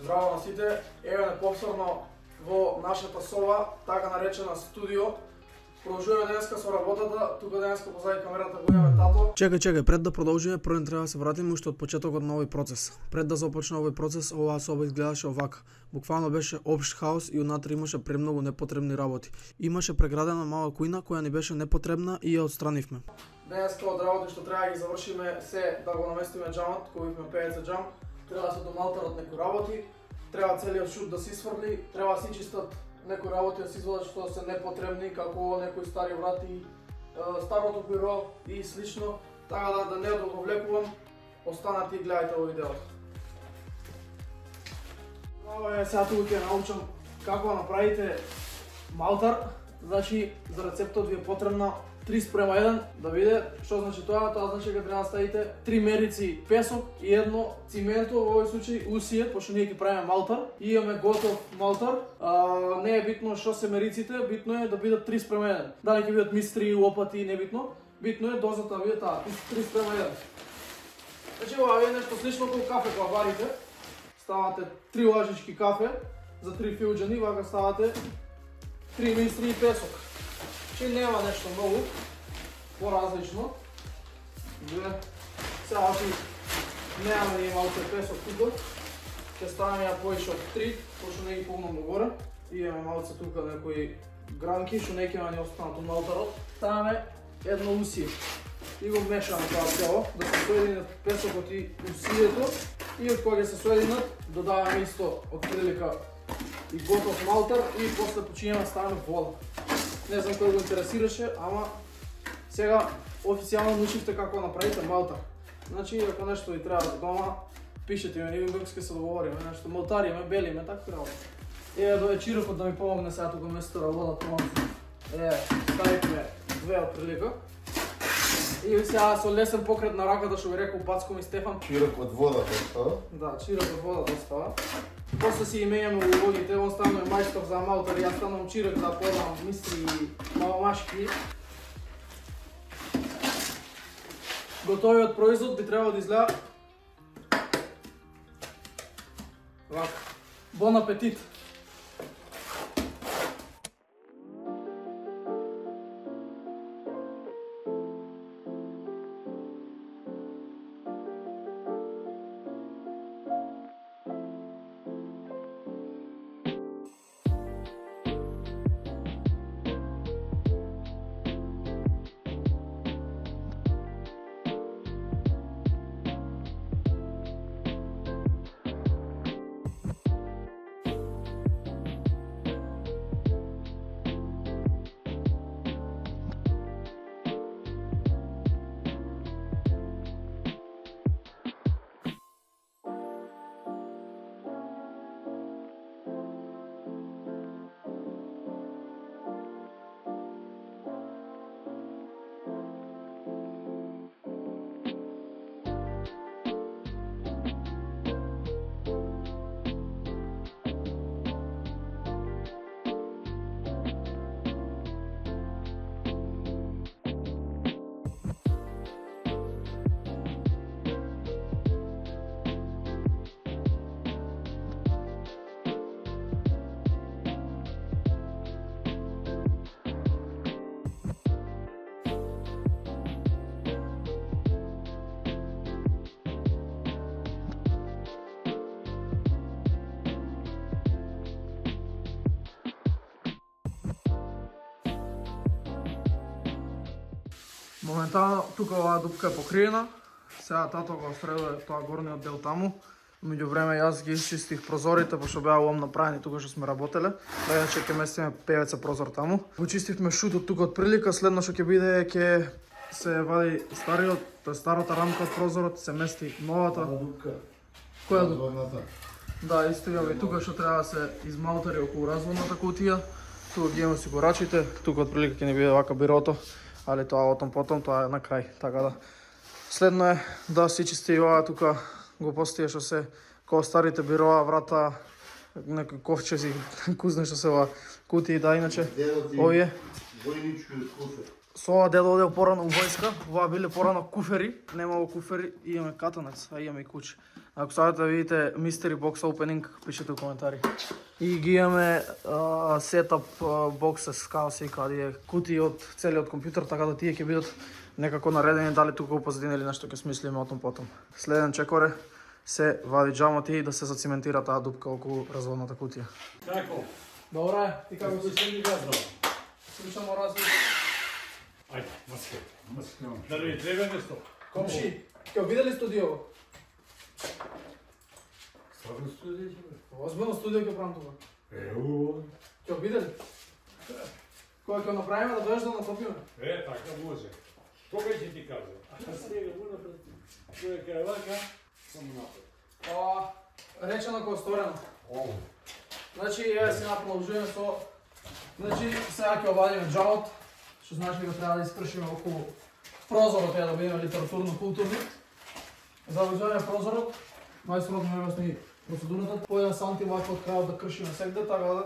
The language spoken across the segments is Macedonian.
Здраво на сите, еве повторно во нашата соба, така наречена студио. Продолжуваме денеска со работата, тука денеска позади камерата го имаме тато. Чекај, пред да продолжиме, прво треба да се вратиме уште од почетокот на овој процес. Пред да започне овој процес, оваа соба изгледаше овака. Буквално беше општ хаос и унатре имаше премногу непотребни работи. Имаше преградена мала кујна која ни беше непотребна и ја отстранивме. Денеска од работи што треба да ги завршиме се да го наместиме џамот, кој имаме PVC џам. Треба да се домалтарат некои работи, треба целиот шут да се сврли, треба да се чистат некои работи да се извадат што се непотребни, како некои стари врати, старото биро и слично. Така да не го влекувам, останете и гледате во видеото. Сега тука ќе научам како да направите малтар. Значи, за рецептот ви е потребна 3:1, да виде што значи тоа. Тоа значи дека треба да ставите 3 мерици песок и едно цименто, во овој случај усие, пошто ние ќе правиме малтар. И имаме готов малтар. Не е битно што се мериците, битно е да бидат 3:1. Дали ќе бидат мистри, лопати, не битно. Битно е дозата да биде таа 3:1. Значи ова е нешто слично како кафе кога варите. Ставате 3 лажички кафе за 3 филџани, вака ставате 3 мистри и песок. Че нема нешто многу поразлично. Сега ти немаме ни малце песок тука. Ќе ставаме ја поише од 3, пошто не ги помнам горе. И имаме малце тука некои гранки, што не ќе ни останат од малтарот. Ставаме едно усие. И го мешаме тоа цело, да се соединат песокот и усието. И од кога ќе се соединат, додаваме исто од прилика и готов малтар и после почињаме да ставаме вода. Не знам кој го интересираше, ама сега официјално научивте како направите малтар. Значи, ако нешто ви треба за дома, пишете ми, ние ќе се договориме, нешто малтариме, белиме, така треба. Еве до вечирокот да ми помогне сега тука место работа тоа. Ставивме 2 од прилика. И сега со лесен покрет на раката што ви рекол Бацко ми Стефан. Чирок од водата става? Да, чирок од водата става. После си именјаме улогите, он станува мајстор за малтар и ја станувам чирок да подам мистри и маломашки. Готовиот производ би требало да изгледа вака. Бон апетит! Моментално тука оваа дупка е покриена. Сега тато го средува тоа горниот дел таму. Меѓу време јас ги изчистих прозорите, пошто беа лом направени тука што сме работеле. Да иначе ќе местиме PVC прозор таму. Го чистивме шутот тука од прилика, следно што ќе биде ќе се вади стариот, тоа старата рамка од прозорот, се мести новата дупка. Која дупка? Разводната. Да, исто ја тука што треба да се измалтари околу разводната кутија. Тука ги имаме осигурачите, тука од прилика ќе ни биде вака бирото. Али тоа отом потом, тоа е на крај, така да. Следно е да се чисти и ова тука глупостија што се кога старите бироа, врата, некои ковчези, кузне што се ова кутии, да иначе. Овие војнички куфер. Со ова дедо одел порано у војска, ова биле порано куфери, немало куфери и имаме катанец, а имаме и куче. Ако сакате да видите Mystery Box Opening, пишете у коментари. И ги имаме сетап боксес, како се каде кутии од целиот компјутер, така да тие ќе бидат некако наредени, дали тука у позадина или нешто ќе смислиме отом потом. Следен чекоре се вади джамоти и да се зациментира таа дупка околу разводната кутија. Како? Добре, ти како Како се ми газва? слушамо разли? Ајде, маска. Дали ви треба нешто? Комши, ќе видели студио? Стварно студио ќе бе? Озбилно студио ќе правам тука. Еу. Ќе видели? Кој ќе направиме да дојдеш да натопиме? Така може. Кога ќе ти кажа? А сега му напред. Кој е вака, само напред. Речено кој сторено. Ово. Значи, ја си продолжуваме со... Значи, сега ќе обадиме джаот, што значи дека треба да искршиме околу прозорот, да бидеме литературно-културни. Завршуваме прозорот, мајсторот ми објасни процедурата, по 1 санти вака од крајот да кршиме сегде, така да...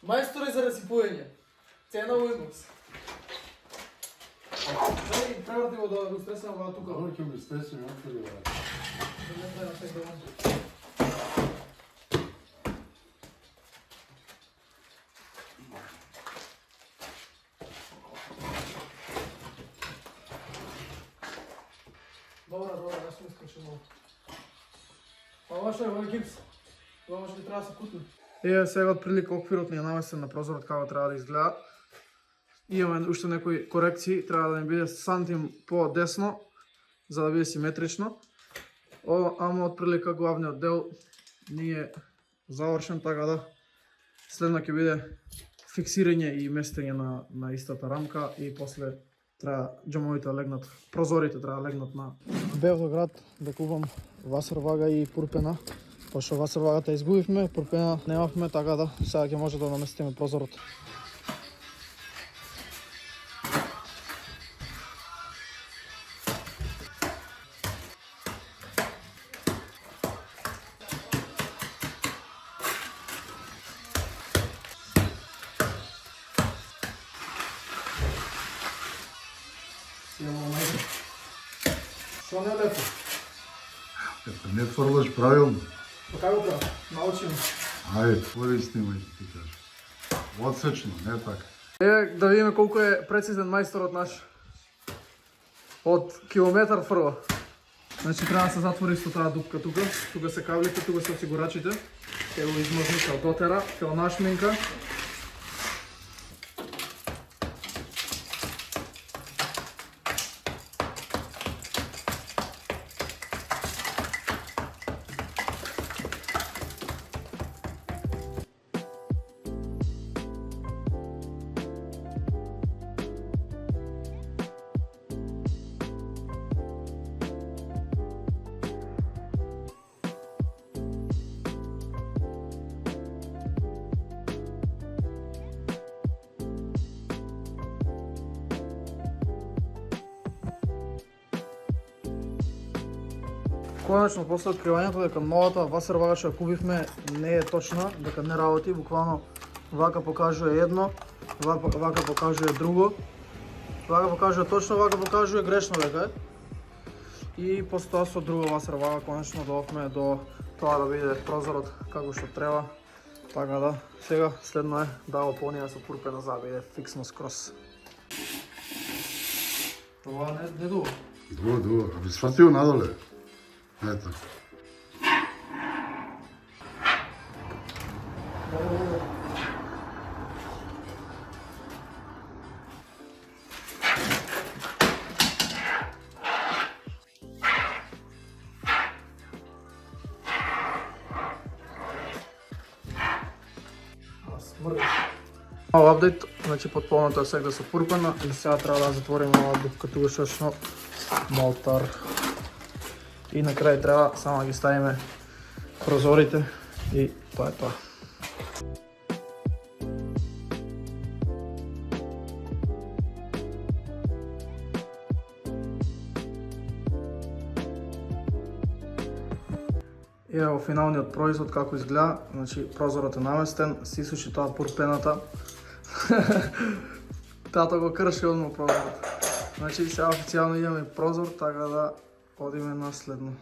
Мајстори за расипување. Цена Windows. Преврати го да го стресам во тука. Dobro ќе ми стресам, отвори врата. Добра, јас сум искршен малку. Ова што е, ова е гипс. Ова може би треба да се кутне. Еве сега отприлика оквирот ни е наместен на прозорот како треба да изгледа. Имаме уште некои корекции, треба да ни биде сантим по-десно, за да биде симетрично. Ама отприлика главниот дел ни е завршен, така да следно ќе биде фиксирање и местење на истата рамка и после треба џамовите легнат, прозорите треба легнат на... Бев до град да купам васервага и пурпена. Пошто васервагата изгубивме, пурпена немавме, така да сега ќе може да наместиме прозорот. Што не е лепо? Не тврлаш правилно. Па како треба? Научим. Ајде, твори снимај, ти кажеш. Одсечно, не така. Еве да видиме колку е прецизен мајсторот наш. Од километар фрла. Значи треба да се затвори со таа дупка тука. Тука се каблите, тука се осигурачите. Ќе го измазника од дотера, ќе го нашминка. Конечно, после откривањето дека новата васер вага што ја купивме не е точна, дека не работи, буквално вака покажува едно, вака покажува друго, вака покажува точно, вака покажува грешно дека е. И после тоа со друга васер вага конечно доofме до тоа да биде прозорот како што треба. Така да, сега следно е да го полнија со пурпена за да биде фиксно скрос. Това не дуго. Дуго. А би сватил надоле. Ето. Мал апдейт, значи потполното е сега со пурпена и сега треба да затвориме оваа дупка тугашечно молтар. И на крај треба само да ги ставиме прозорите и тоа е тоа. И ево финалниот производ како изгледа, значи прозорот е наместен, се исуши тоа пурпената. Тато го крши одма прозорот. Значи сега официјално идеме прозор, така да одиме на следно.